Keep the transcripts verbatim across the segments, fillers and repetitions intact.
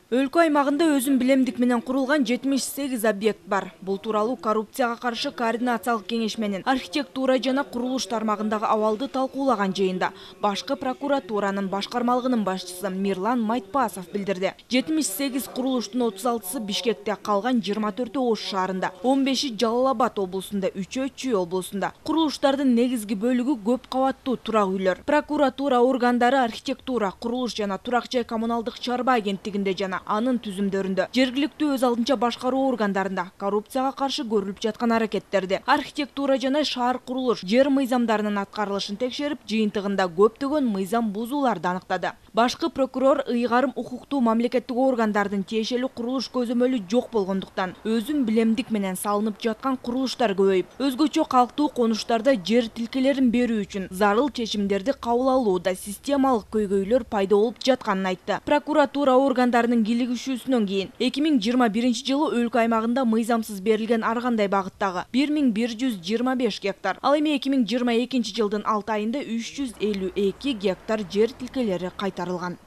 Өлкө аймагында өзүн билемдик менен курулган жетимиш сегиз объект бар. Бул тууралуу коррупцияга каршы координациялык кеңеш менен архитектура жана курулуш тармагындагы абалды талкуулаган жыйында башкы прокуратуранын башкармалыгынын башчысы Мирлан Майтпасов билдирди. жетимиш сегиз курулуштун отуз алтысы Бишкекте, калган жыйырма төртү Ош шаарында, он беши Жалал Абад облусунда, үчөө Чүй облусунда. Курулуштардын негизги бөлүгү көп кабаттуу турак үйлөр. Прокуратура органдары архитектура, курулуш жана турак жай коммуналдык чарба агенттигинде жана анын түзүмдөрүндө, жергиликтүү өз алдынча башкаруу органдарында коррупцияга каршы көрүлүп жаткан аракеттерди, архитектура жана шаар курулуш жер мыйзамдарынын аткарылышын текшерип, жыйынтыгында көптөгөн мыйзам бузууларды аныктады. Башкы прокурор ыйгарым укуктуу мамлекеттик органдардын тиешелүү курулуш көзөмөлү жок болгондуктан өзүн билемдик менен салынып жаткан курулуштар көбөйүп, өзгөчө калктуу конуштарда жер тилкелерин берүү үчүн зарыл чечимдерди кабыл алууда системалык көйгөйлөр пайда болуп жатканын айтты. Прокуратура органдарынын кийлигишүүсүнөн кийин эки миң жыйырма биринчи жылы өлкө аймагында мыйзамсыз берилген ар кандай багыттагы бир миң бир жүз жыйырма беш гектар, ал эми эки миң жыйырма экинчи жылдын алты айында үч жүз элүү эки гектар жер тилкелери кайтарылган.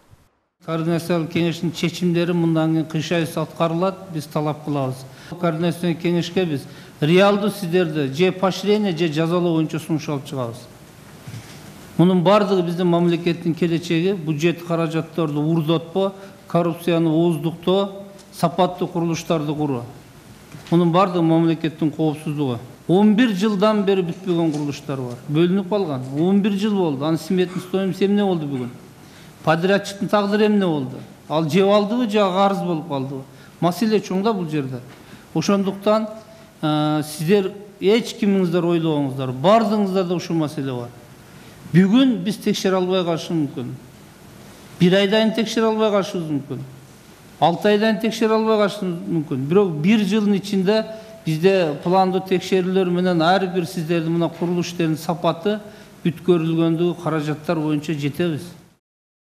Координациялык кеңештин чечимдери мындан кийин кыйшайсыз аткарылат, биз талап кылабыз. Координациялык кеңешке биз реалдуу сиздерди же поощрение, же жазалоо боюнча сунуш алып чыгабыз. Мунун бардыгы биздин мамлекеттин келечеги, бюджет каражаттарды урдотпо, коррупцияны ооздуктоо, сапаттуу курулуштарды куруу. Мунун бардыгы мамлекеттин коопсуздугу. он бир жылдан бери бүтпөгөн курулуштар бар. Бөлүнүп калган. он бир жыл болду. Анын сметный стоимость эмне болду бүгүн? Подрядчиктин тагдыры эмне болду? Ал жеп алдыбы, же карыз болуп калдыбы? Маселе чоң да бул жерде. Ошондуктан сиздер эч кимиңиздер ойлобоңуздар, бардыгыңыздарда ушул маселе бар. Бүгүн биз текшере албай калышыбыз мүмкүн. Bir aydan tekşer almaya karşımız mümkün. Altı aydan tekşer almaya karşımız mümkün. Bирок bir жылдын içinde bizde planda tekşeriler menen her bir sizlerдің мына kuruluşların sapatı bütkörülgöndüğü karajatlar boyunca жетебиз.